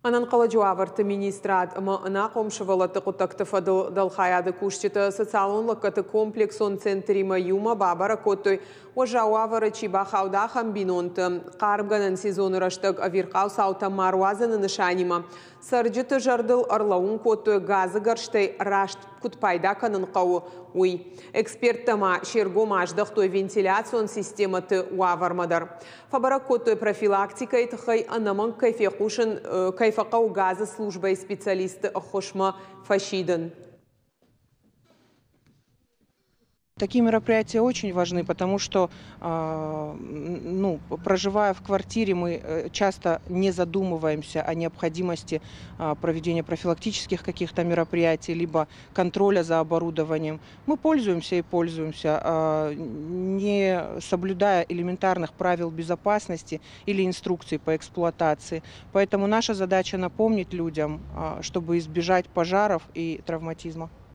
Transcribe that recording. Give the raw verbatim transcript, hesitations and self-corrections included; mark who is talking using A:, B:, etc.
A: Ӕнӕнхъӕлӕджы уавӕрты министрад ӕмӕ ӕнахъом сывӕллӕтты хъуыддӕгты фӕдыл дӕлхайады кусджытӕ социалон лӕггӕдты комплексон центримӕ иумӕ бабӕрӕг кодтой, уӕззау уавӕры чи бахауд, ахӕм бинонты. Хъармгӕнӕн сезоны рӕстӕг ӕвирхъау цаутӕ ма руадзыны нысанимӕ цӕрджыты зӕрдыл ӕрлӕууын кодтой, газы гӕрзтӕй раст куыд пайда кӕнын хъӕуы, уый. Эксперттӕ ма се ргом аздӕхтой вентиляцион системӕты уавӕрмӕ дӕр. Фӕбӕрӕг кодтой, профилактикӕйы тыххӕй ӕнӕмӕнг кӕй фехъусын кӕй фӕхъӕуы газы службӕйы специалистты ӕххуысмӕ фӕсидын.
B: Такие мероприятия очень важны, потому что, ну, проживая в квартире, мы часто не задумываемся о необходимости проведения профилактических каких-то мероприятий, либо контроля за оборудованием. Мы пользуемся и пользуемся, не соблюдая элементарных правил безопасности или инструкций по эксплуатации. Поэтому наша задача напомнить людям, чтобы избежать пожаров и травматизма.